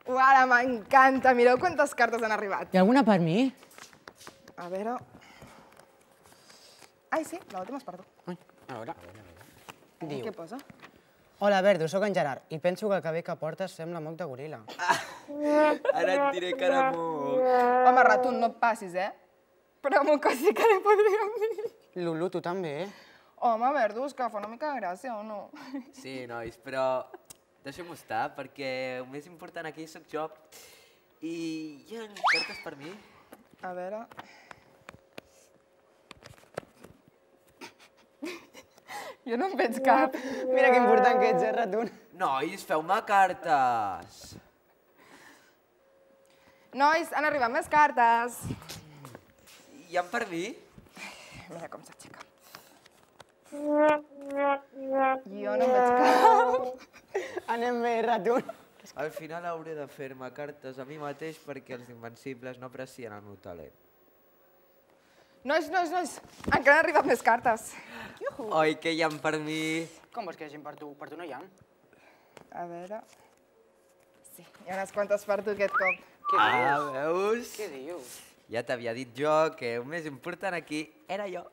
Uara, m'encanta. Mireu quantes cartes han arribat. Hi ha alguna per mi? A veure... Ai, sí, l'última és per tu. Ai, a veure. Diu. Què posa? Hola, Verdo, sóc en Gerard i penso que el cabell que portes sembla moc de goril·la. Ara et diré que era moc. Home, Ratun, no et passis, eh? Però moc sí que li podríem dir. Lulu, tu també? Home, Verdus, que fa una mica de gràcia, o no? Sí, nois, però deixem-ho estar, perquè el més important aquí sóc jo. I hi ha cartes per mi? A veure... Jo no en veig cap. Mira que important que ets, Ratun. Nois, feu-me cartes! Nois, han arribat més cartes. Hi ha per mi? Mira com s'aixeca. Jo no en veig cap. Anem bé, Ratun. Al final hauré de fer-me cartes a mi mateix perquè els invencibles no aprecien el meu talent. Nois, encara han arribat més cartes. Oi, que hi ha per mi? Com vols que hi hagi per tu? Per tu no hi ha. A veure... Sí, hi ha unes quantes per tu aquest cop. Què dius? Veus? Què dius? Ja t'havia dit jo que el més important aquí era jo.